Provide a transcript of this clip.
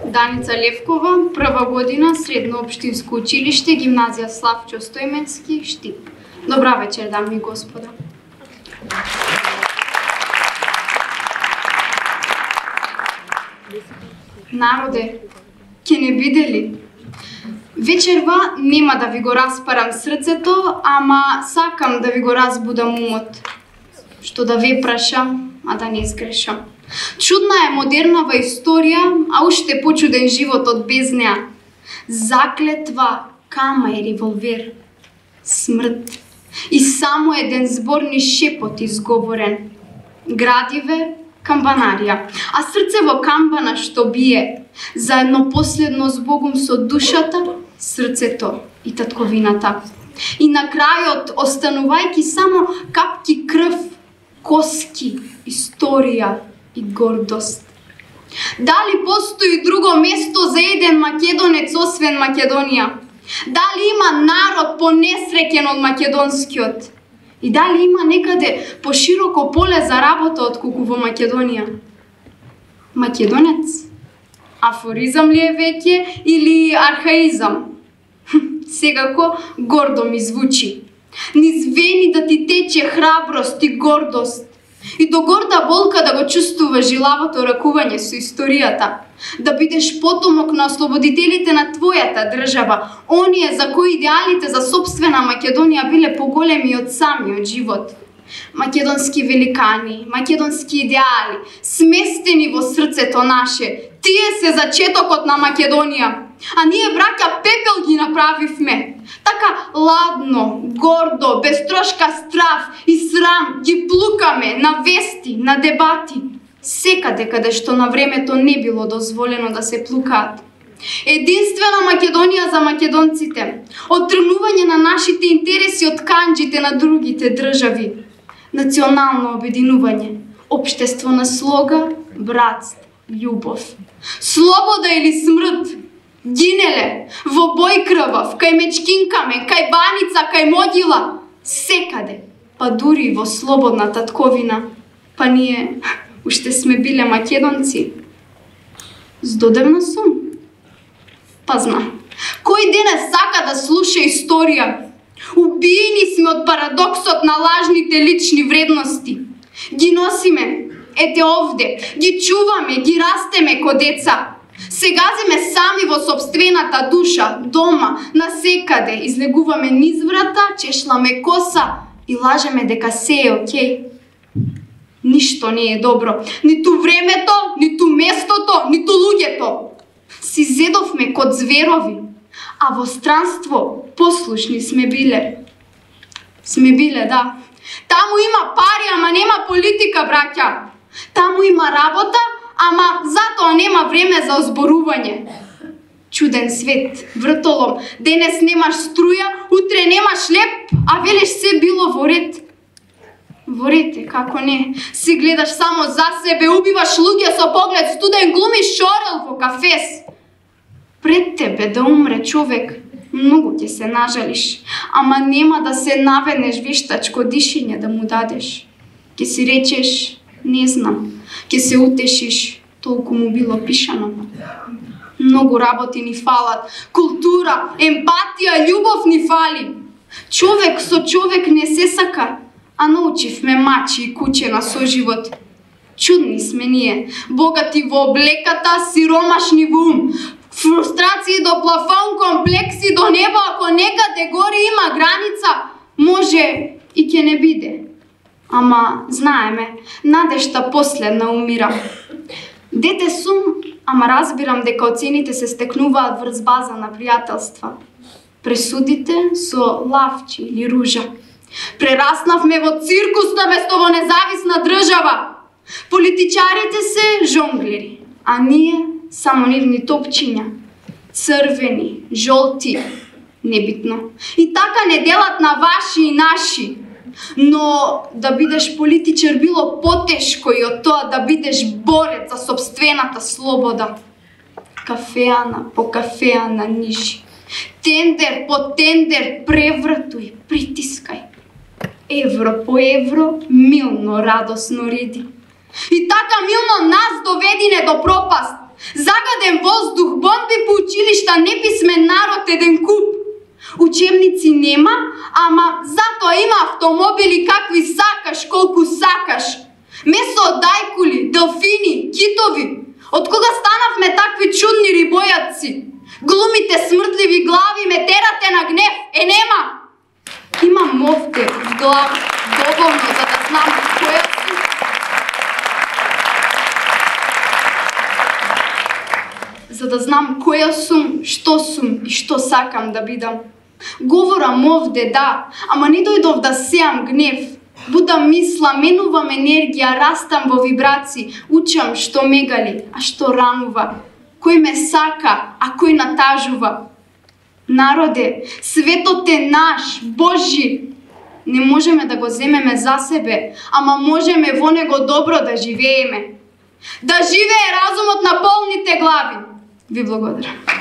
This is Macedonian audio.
Даница Левкова, прва година, средно општинско училиште, гимназија Славчо Стојменски, Штип. Добра вечер, дами и господа. Народе, ке не биде ли? Вечерва нема да ви го распарам срцето, ама сакам да ви го разбудам умот. Што да ве прашам, а да не изгрешам. Чудна е модернава историја, а уште почуден животот без неа. Заклетва, кама и револвер. Смрт. И само еден зборни шепот изговорен. Градиве, камбанарија, а срце во камбана што бие, заедно последно збогум со душата, срцето и татковината. И на крајот, останувајќи само капки крв, коски, историја и гордост. Дали постои друго место за еден македонец освен Македонија? Дали има народ понесреќен од македонскиот? И дали има некаде пошироко поле за работа отколку во Македонија? Македонец? Афоризам ли е веќе или архаизам? Секако гордо ми звучи. Низ вени да ти тече храброст и гордост. И до горда болка да го чувствуваш жилавото ракување со историјата. Да бидеш потомок на ослободителите на твојата држава, оние за кои идеалите за собствена Македонија биле поголеми од самиот живот. Македонски великани, македонски идеали, сместени во срцето наше, тие се зачетокот на Македонија. А ние, браќа, пепел ги направивме. Така ладно, гордо, без трошка страв и срам ги плукаме на вести, на дебати. Секаде каде што на времето не било дозволено да се плукаат. Единствена Македонија за македонците. Оттргнување на нашите интереси од канџите на другите држави. Национално обединување. Општество на слога, братство, љубов. Слобода или смрт. Гинеле, во бој крвав, кај мечкинкаме, кај баница, кај могила. Секаде, па дури во слободна татковина. Па ние уште сме биле македонци. Здодевна сум. Па знам. Кој денес сака да слуша историја? Убиени сме од парадоксот на лажните лични вредности. Ги носиме, ете овде, ги чуваме, ги растеме ко деца. Се газиме сами во собствената душа, дома, насекаде, излегуваме низ врата, чешламе коса и лажеме дека се е окей. Ништо не е добро. Ниту времето, ниту местото, ниту луѓето. Си зедовме код зверови, а во странство послушни сме биле. Сме биле, да. Таму има пари, ама нема политика, браќа. Таму има работа, ама затоа нема време за озборување. Чуден свет, вртолом, денес немаш струја, утре немаш леп, а велиш се било во ред. Во ред е, како не. Си гледаш само за себе, убиваш луѓе со поглед студен, глумиш шорел во кафес. Пред тебе да умре човек, многу ќе се нажалиш, ама нема да се наведнеш вештачко дишење да му дадеш. Ќе си речеш, не знам, ќе се утешиш, толку му било пишано. Многу работи ни фалат, култура, емпатија, љубов ни фали. Човек со човек не се сака, а научивме мачи и куче на соживот. Чудни сме ние, богати во облеката, сиромашни во ум, фрустрации до плафон, комплекси до небо, ако некаде горе има граница, може и ќе не биде. Ама, знаеме, надежта последна умира. Дете сум, ама разбирам дека оцените се стекнуваат врз база на пријателства. Пресудите со лавчи или ружа. Прераснавме во циркус наместо во независна држава. Политичарите се жонглери, а ние само нивни топчиња. Црвени, жолти, небитно. И така не делат на ваши и наши. Но да бидеш политичар било потешко и од тоа да бидеш борец за собствената слобода. Кафеана по кафеана нижи. Тендер по тендер превртуј, притискај. Евро по евро милно радосно реди. И така милно нас доведине до пропаст. Загаден воздух, бомби по училишта, неписмен народ еден куп. Учебници нема, ама затоа има автомобили какви сакаш, колку сакаш. Месо од дајкули, делфини, китови. Од кога станавме такви чудни рибојаци? Глумите смртливи глави, ме терате на гнев, нема. Имам овде в глава доволно за да знам која сум. За да знам која сум и што сакам да бидам. Говорам овде, да, ама не дојдов да сеам гнев. Будам мисла, менувам енергија, растам во вибрации, учам што ме гали, а што ранува. Кој ме сака, а кој натажува. Народе, светот е наш, Божи. Не можеме да го земеме за себе, ама можеме во него добро да живееме. Да живее разумот на полните глави. Ви благодарам.